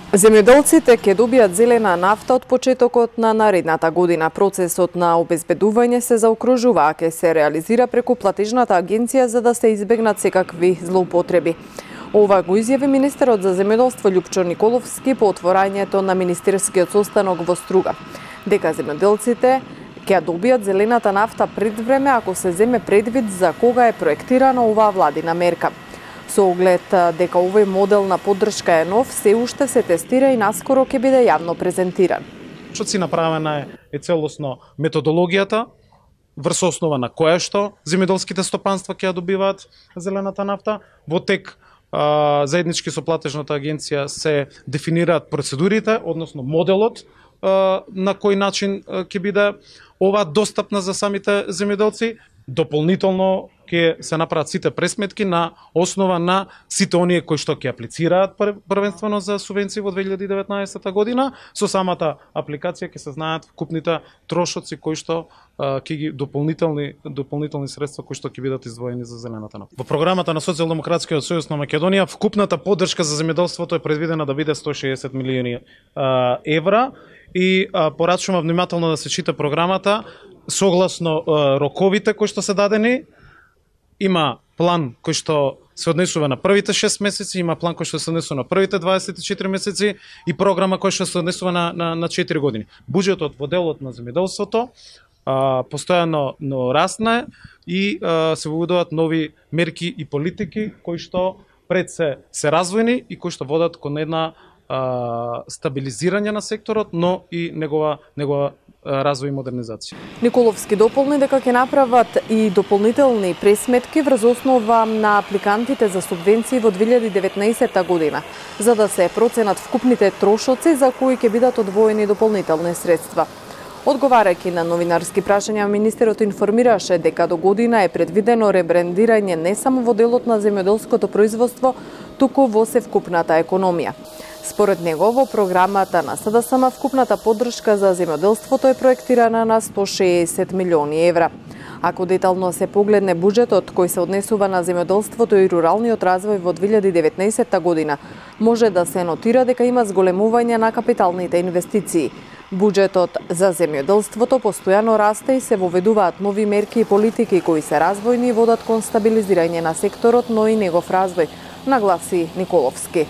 Земјоделците ќе добијат зелена нафта од почетокот на наредната година. Процесот на обезбедување се заокружува, а ќе се реализира преку платежната агенција за да се избегнат секакви злоупотреби. Ова го изјави министерот за земјоделство Љупчо Николовски по отворањето на министерскиот состанок во Струга. Дека земјоделците ќе добијат зелената нафта пред време ако се земе предвид за кога е проектирана оваа владина мерка. Со оглед дека овој модел на поддршка е нов, се уште се тестира и наскоро ќе биде јавно презентиран. Што си направена е целосно методологијата, врз основа на која што земјоделските стопанства ќе ја добиваат зелената нафта. Во тек заеднички со платежната агенција се дефинираат процедурите, односно моделот на кој начин ќе биде ова достапна за самите земјоделци. Дополнително ќе се направат сите пресметки на основа на сите оние кои што ќе аплицираат првенствено за субвенции во 2019 година. Со самата апликација ќе се знаат вкупните трошоци кои што ќе ги дополнителни средства кои што ќе бидат издвоени за зелената нафта. Во програмата на Социјалдемократскиот сојуз на Македонија вкупната поддршка за земјоделството е предвидена да биде 160 милиони евра и порачувам внимателно да се чита програмата согласно роковите кои што се дадени. Има план кој што се однесува на првите 6 месеци, има план кој што се однесува на првите 24 месеци и програма која што се однесува на 4 години. Буџетот во делот на земјоделството постојано расне и се воведуваат нови мерки и политики кои што пред се развојни и кои што водат кон една стабилизирање на секторот, но и негова развој и модернизација. Николовски дополни дека ќе направат и дополнителни пресметки врз основа на апликантите за субвенции во 2019 година, за да се проценат вкупните трошоци за кои ќе бидат одвоени дополнителни средства. Одговарајќи на новинарски прашања, министерот информираше дека до година е предвидено ребрендирање не само во делот на земјоделското производство, туку во севкупната економија. Според него, во програмата на СДСМ вкупната поддршка за земјоделството е проектирана на 160 милиони евра. Ако детално се погледне буџетот кој се однесува на земјоделството и руралниот развој во 2019 година, може да се нотира дека има зголемување на капиталните инвестиции. Буџетот за земјоделството постојано расте и се воведуваат нови мерки и политики кои се развојни и водат кон стабилизирање на секторот, но и негов развој, нагласи Николовски.